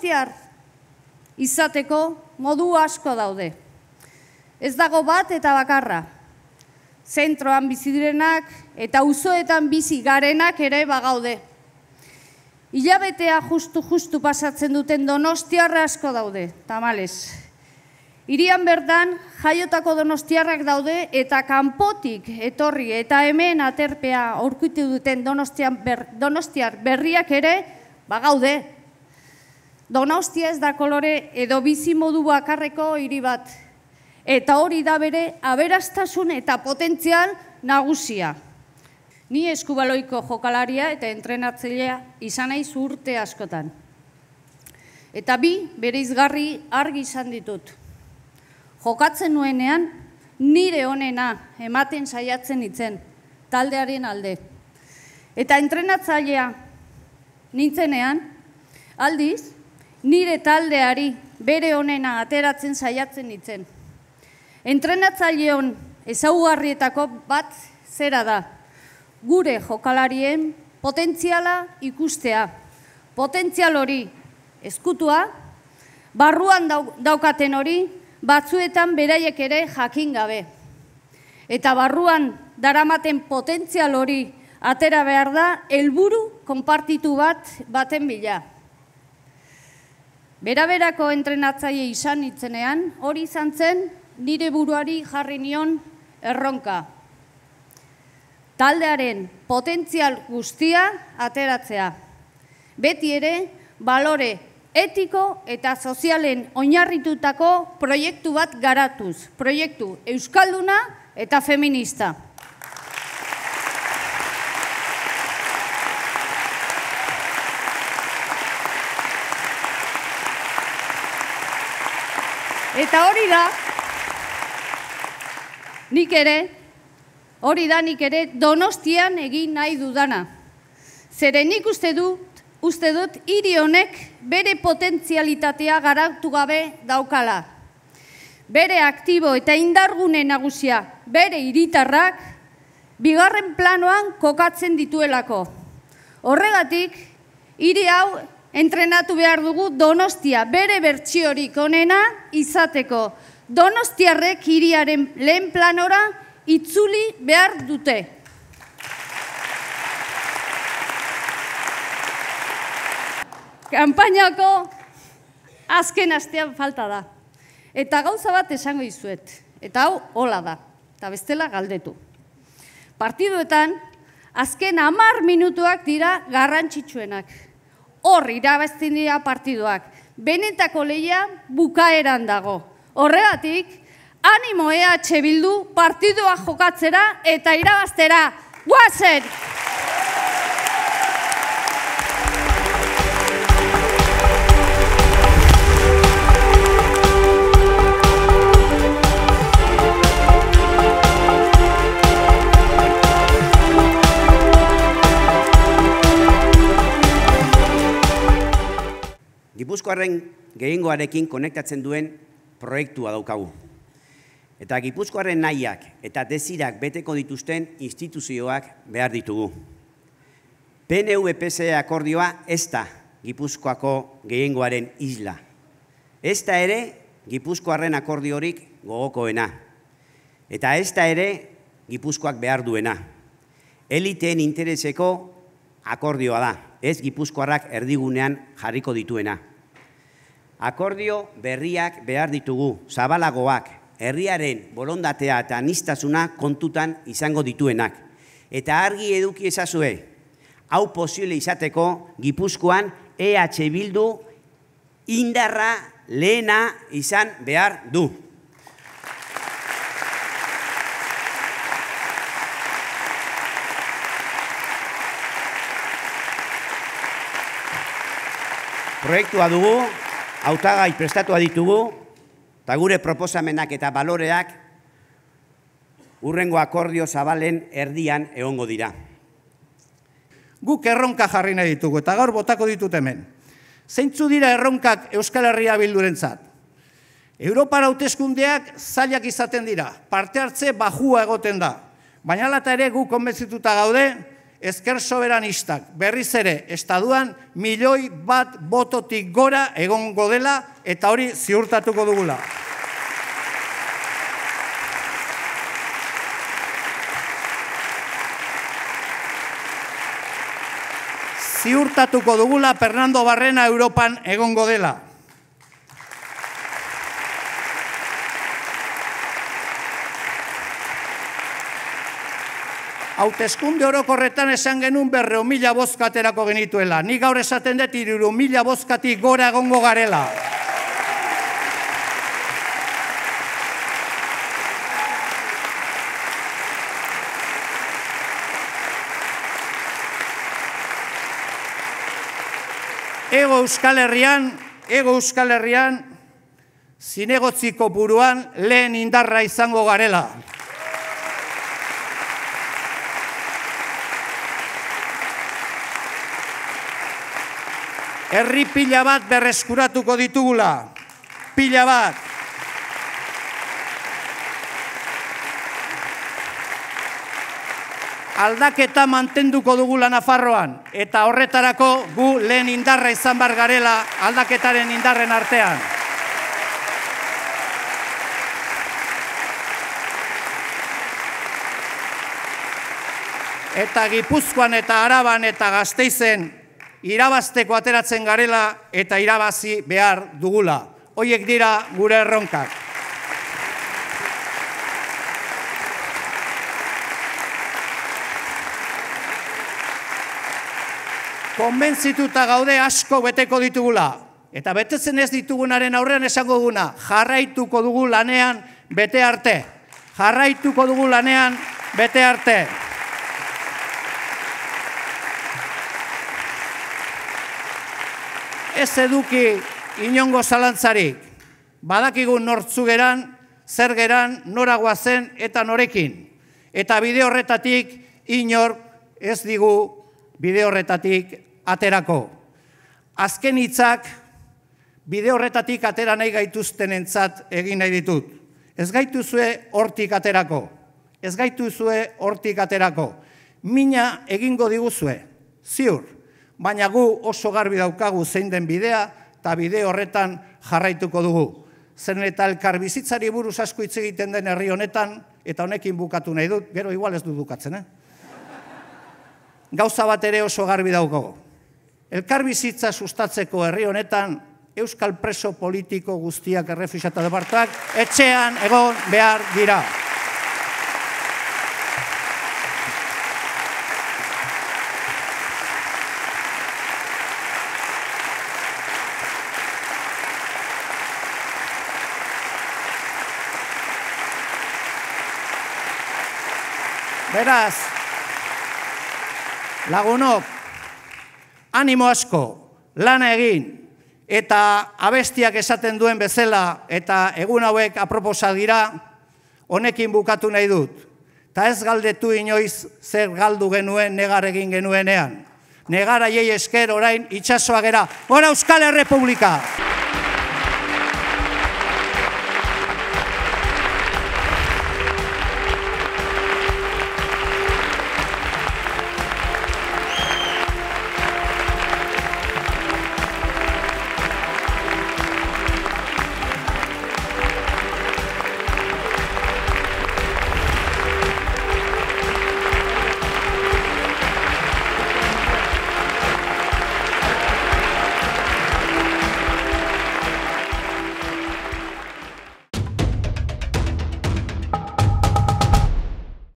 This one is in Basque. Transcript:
donostiar izateko modu asko daude. Ez dago bat eta bakarra. Zentroan bizi direnak eta auzoetan bizi garenak ere bagaude. Hilabetea justu pasatzen duten donostiarra asko daude, tamalez. Hirian bertan jaiotako donostiarrak daude eta kanpotik etorri eta hemen aterpea aurkitu duten donostiar berriak ere bagaude. Donostia ez da kolore edo bizi modu bakarreko hiri bat. Eta hori da bere aberastasun eta potentzial nagusia. Ni eskubaloiko jokalaria eta entrenatzailea izan naiz urte askotan. Eta bi bereizgarri argi izan ditut. Jokatzen nuenean nire onena ematen saiatzen nitzen, taldearen alde. Eta entrenatzailea nintzenean, aldiz, nire taldeari bere onena ateratzen saiatzen nitzen. Entrenatzaileon ezaugarrietako bat zera da, gure jokalarien potentziala ikustea. Potentzial hori ezkutua, barruan daukaten hori, batzuetan beraiek ere jakin gabe. Eta barruan daramaten potentzial hori atera behar da, helburu konpartitu baten bila. Beraberako entrenatzaile izan nitzenean, hori izan zen nire buruari jarri nion erronka. Taldearen potentzial guztia ateratzea. Beti ere, balore etiko eta sozialen oinarritutako proiektu bat garatuz. Proiektu euskalduna eta feminista. Eta hori da nik ere Donostian egin nahi dudana. Zeren nik uste dut hiri honek bere potentzialitatea garatu gabe daukala. Bere aktibo eta indargune nagusia, bere hiritarrak, bigarren planoan kokatzen dituelako. Horregatik, hiri hau entrenatu behar dugu Donostia bere bertsiorik onena izateko. Donostiarrek hiriaren lehen planora itzuli behar dute. Kanpainako azken astean falta da. Eta gauza bat esango dizuet. Eta hau hola da. Eta bestela galdetu. Partiduetan, azken 10 minutuak dira garrantzitsuenak. Hor irabazten dira partiduak. Benetako lehia bukaeran dago. Horregatik, animo EH Bildu partidua jokatzera eta irabaztera. Guazen! Gipuzkoarren gehiengoarekin konektatzen duen proiektua daukagu. Eta Gipuzkoarren nahiak eta desirak beteko dituzten instituzioak behar ditugu. PNV-PSE akordioa ez da Gipuzkoako gehiengoaren isla. Ez da ere Gipuzkoarren akordiorik gogokoena. Eta ez da ere Gipuzkoak behar duena. Eliteen intereseko akordioa da, ez Gipuzkoarrak erdigunean jarriko dituena. Akordio berriak behar ditugu, zabalagoak, herriaren borondatea eta aniztasuna kontutan izango dituenak. Eta argi eduki ezazue, hau posible izateko Gipuzkoan EH Bildu indarra lehena izan behar du. Proiektua dugu, hautagai prestatua ditugu, eta gure proposamenak eta baloreak hurrengo akordio zabalen erdian egongo dira. Guk erronka jarri nahi ditugu, eta gaur botako ditut hemen. Zeintzu dira erronkak Euskal Herria Bildurentzat? Europara hauteskundeak zailak izaten dira, parte hartze bajua egoten da. Baina hala ere guk konbentzituta gaude, ezker soberanistak berriz ere estatuan 1.000.000 bototik gora egongo dela eta hori ziurtatuko dugula. Ziurtatuko dugula Fernando Barrena Europan egongo dela. Hauteskunde orokorretan esan genuen 200.000 bozka aterako genituela. Nik gaur esaten dut 300.000 bozkatik gora egongo garela. Ego Euskal Herrian, zinegotziko buruan lehen indarra izango garela. Herri pila bat berreskuratuko ditugula. Pila bat. Aldaketa mantenduko dugula Nafarroan, eta horretarako gu lehen indarra izan bar garela aldaketaren indarren artean. Eta Gipuzkoan eta Araban eta Gasteizen irabazteko ateratzen garela eta irabazi behar dugula. Horiek dira gure erronkak. Konbentzituta gaude asko beteko ditugula. Eta betetzen ez ditugunaren aurrean esango duguna, jarraituko dugu lanean bete arte. Jarraituko dugu lanean bete arte. Ez eduki inongo zalantzarik. Badakigun nortzu geran, zer geran, nora goazen eta norekin. Eta bide horretatik inor ez digu bide horretatik aterako. Azken hitzak bide horretatik atera nahi gaituztenentzat egin nahi ditut. Ez gaituzue hortik aterako. Ez gaituzue hortik aterako. Mina egingo diguzue, ziur. Baina gu oso garbi daukagu zein den bidea eta bide horretan jarraituko dugu. Zeren eta elkar bizitzari buruz asko hitz egiten den herri honetan, eta honekin bukatu nahi dut, gero igual ez dut bukatzen, Gauza bat ere oso garbi daukagu. Elkar bizitza sustatzeko herri honetan, euskal preso politiko guztiak errefuxiatu departuak etxean egon behar dira. Beraz, lagunok, animo asko, lana egin, eta abestiak esaten duen bezala, eta egun hauek aproposa dira, honekin bukatu nahi dut. Ta ez galdetu inoiz zer galdu genuen negar egin genuenean. Negar aiei esker orain itxasoa gera. Gora Euskal Errepublika!